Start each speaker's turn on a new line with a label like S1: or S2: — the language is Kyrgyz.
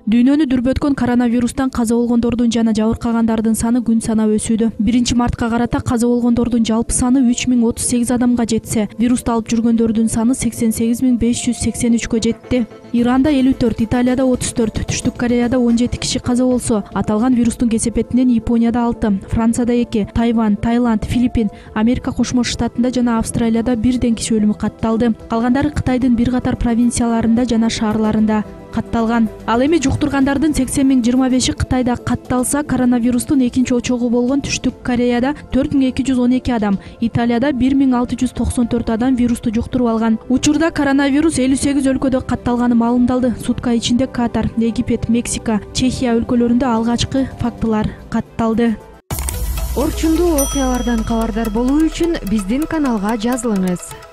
S1: Дүйнөнү дүрбөткөн коронавирустан каза болгондордун жана жабыркагандардын саны күн санап өсүүдө. 1-мартка карата каза болгондордун жалпы саны 3038 адамга жетсе, вирусту алып жүргөндөрдүн саны 88583кө жетти. Иранда 54, Италияда 34, Түштүк Кореяда 17 киши каза болсо, аталган вирустун кесепетинен Японияда 6, Францияда 2, Тайвань, Таиланд, Филиппин, Америка Кошмо Штатында жана Австралияда бирден киши өлүмү катталды. Калгандары Кытайдын бир катар провинцияларында жана шаарларында катталган. Ал эми жуктургандардын 80,025 Кытайда катталса, коронавирустун экинчи очогу болгон Түштүк Кореяда 4212 адам, Италияда 1694 адам вирусту жуктуруп алган. Учурда коронавирус 58 өлкөдө катталганы маалымдалды. Сутка ичинде Катар, Египет, Мексика, Чехия өлкөлөрүндө алгачкы фактылар катталды.
S2: Орчундуу окуялардан кабардар болуу үчүн биздин каналга жазылыңыз.